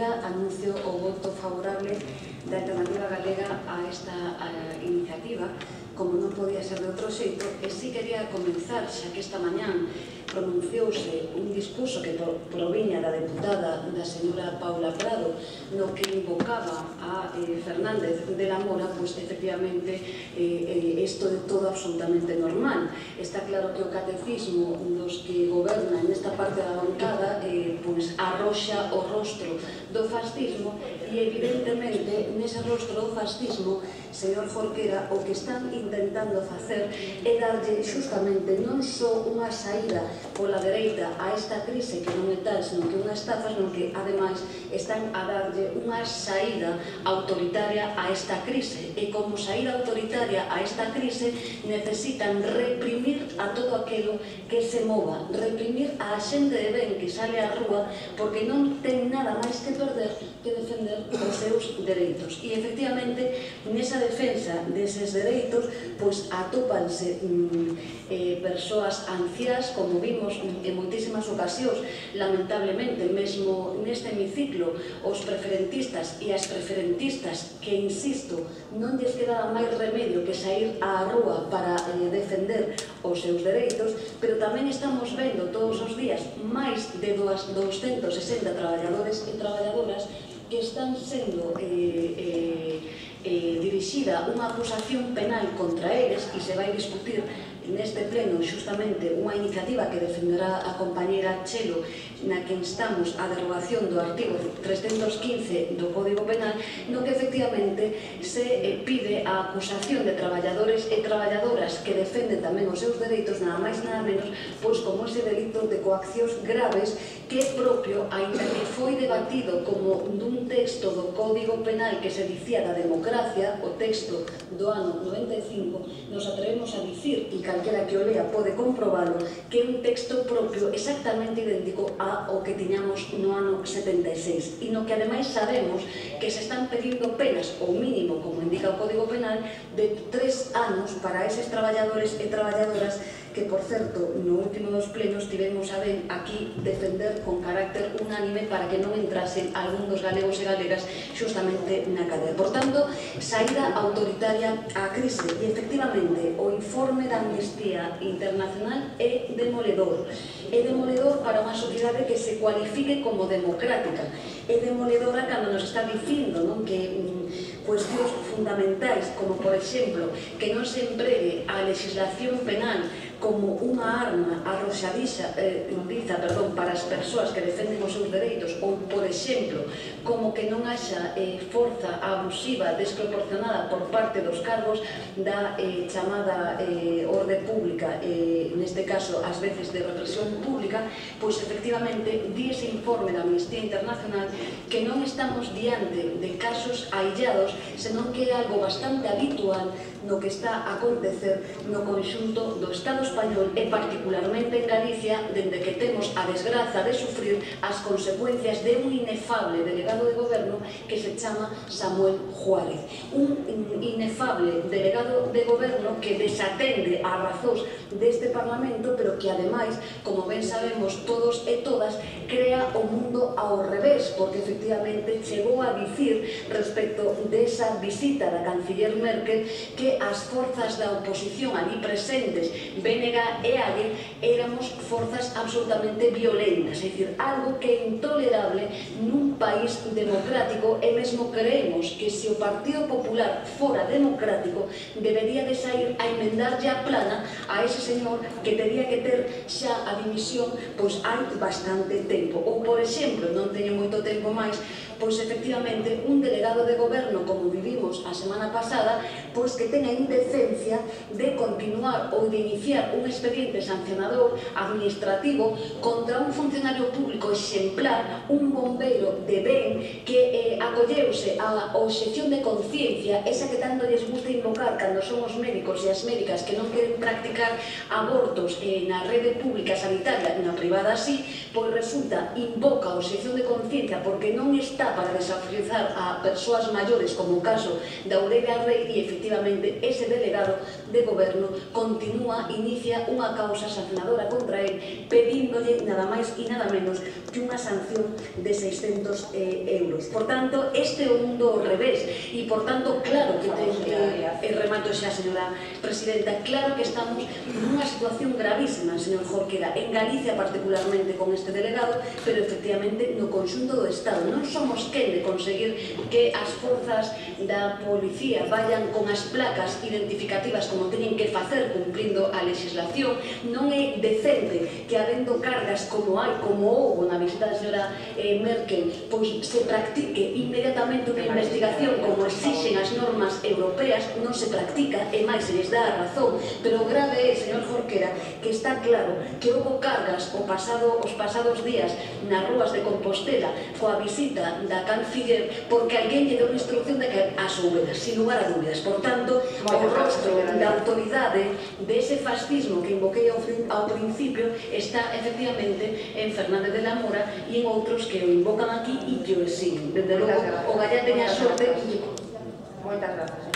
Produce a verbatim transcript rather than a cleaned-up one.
presidenta, anuncio o voto favorable da Alternativa Galega a esta iniciativa, como non podía ser de outro xeito, e si quería comenzar, xa que esta mañán pronunciouse un discurso que proviña da deputada da señora Paula Prado, no que invocaba a Fernández de la Mora, pois efectivamente isto é todo absolutamente normal. Está claro que o catecismo dos que gobernan nesta parte da bancada pois arroxa o rostro do fascismo e evidentemente nese rostro do fascismo, señor Jorquera, o que están intentando facer é darlle justamente non só unha saída pola dereita a esta crise que non é tal, senón que unha estafa, senón que ademais están a darlle unha saída autoritaria a esta crise, e como saída autoritaria a esta crise necesitan reprimir a todo aquilo que se mova, reprimir a xente de ben que sale á rúa porque non ten nada máis que perder que defender os seus dereitos. E efectivamente nesa defensa deses dereitos pois atópanse persoas anciás, como vimos en moitísimas ocasións, lamentablemente, mesmo neste hemiciclo, os preferentistas e as preferentistas que, insisto, non lles quedaba máis remedio que sair á rúa para defender os seus dereitos, pero tamén estamos vendo todos os días máis de douscentos sesenta traballadores e traballadoras que están sendo dirixida unha acusación penal contra eles, e se vai discutir neste pleno justamente unha iniciativa que defenderá a compañera Chelo, na que instamos a derogación do artigo trescentos quince do Código Penal, no que efectivamente se pide a acusación de traballadores e traballadoras que defenden tamén os seus dereitos, nada máis nada menos, pois como ese delito de coaccións graves que é propio, ainda que foi debatido como dun texto do Código Penal que se dicía da democracia, o texto do ano noventa e cinco, nos atrevemos a dicir, e calquera que o lea pode comprobalo, que é un texto propio exactamente idéntico ao que tiñamos no ano setenta e seis, e no que ademais sabemos que se están pedindo penas, ou mínimo, como indica o Código Penal, de tres anos para eses traballadores e traballadoras que, por certo, no último dos plenos tivemos a ben aquí defender con carácter unánime para que non entrasen algún dos galegos e galegas xustamente na cadea. Por tanto, saída autoritaria á crise, e efectivamente o informe da Amnistía Internacional é demoledor. É demoledor para unha sociedade que se cualifique como democrática. É demoledora cando nos está dicindo que cuestións fundamentais, como por exemplo que non se empregue a legislación penal como unha arma arroxadiza para as persoas que defenden os seus dereitos, ou, por exemplo, como que non haxa forza abusiva desproporcionada por parte dos cargos da chamada orde pública, neste caso, ás veces de represión pública, pois, efectivamente, di ese informe da Amnistía Internacional que non estamos diante de casos aillados, senón que é algo bastante habitual no que está a acontecer no conxunto do Estado español e particularmente en Galicia, dende que temos a desgraza de sufrir as consecuencias de un inefable delegado de goberno que se chama Samuel Juárez. Un inefable delegado de goberno que desatende as razóns deste Parlamento, pero que ademais, como ben sabemos todos e todas, crea o mundo ao revés, porque efectivamente chegou a dicir respecto desa visita da canciller Merkel que as forzas da oposición ali presentes, B N G e A G, éramos forzas absolutamente violentas, é dicir, algo que é intolerable nun país democrático, e mesmo creemos que se o Partido Popular fora democrático debería de sair a enmendarlle a plana a ese señor que tería que ter xa a dimisión pois hai bastante tempo. Ou, por exemplo, non teño moito tempo máis, pois efectivamente un delegado de goberno, como vivimos a semana pasada, pois que ten a indecencia de continuar ou de iniciar un expediente sancionador administrativo contra un funcionario público exemplar, un bombeiro de ben que acolleuse a obxección de conciencia, esa que tanto lles gusta invocar cando son os médicos e as médicas que non queren practicar abortos na rede pública sanitaria, na privada así, pois resulta, invoca a obxección de conciencia porque non está dá para desafiuzar a persoas maiores, como o caso da Aurelia Rey, e efectivamente ese delegado de goberno continúa, inicia unha causa sancionadora contra él, pedíndolle nada máis e nada menos que unha sanción de seiscentos euros. Por tanto, este é o mundo ao revés, e por tanto, claro que ten que, e remato xa, señora Presidenta, claro que estamos nunha situación gravísima, señor Jorquera, en Galicia particularmente con este delegado, pero efectivamente no conxunto do Estado. Non somos quen de conseguir que as forzas da policía vayan con as placas identificativas como teñen que facer cumplindo a legislación. Non é decente que habendo cargas como hai, como houve na visita da señora Merkel, pois se practique inmediatamente unha investigación como exixen as normas europeas. Non se practica, e máis se les dá a razón, pero o grave é, señor Jorquera, que está claro que houve cargas o pasado, os pasados días nas rúas de Compostela coa visita da canciller porque alguén lle deu unha instrucción de que as houbera, sin lugar a dúbidas. Por tanto, o rostro da autoridade dese fascismo que invoquei ao principio está efectivamente en Fernández de la Mora e en outros que o invocan aquí e que o exigen. Desde logo, o Gallá teña sorte. Moitas grazas.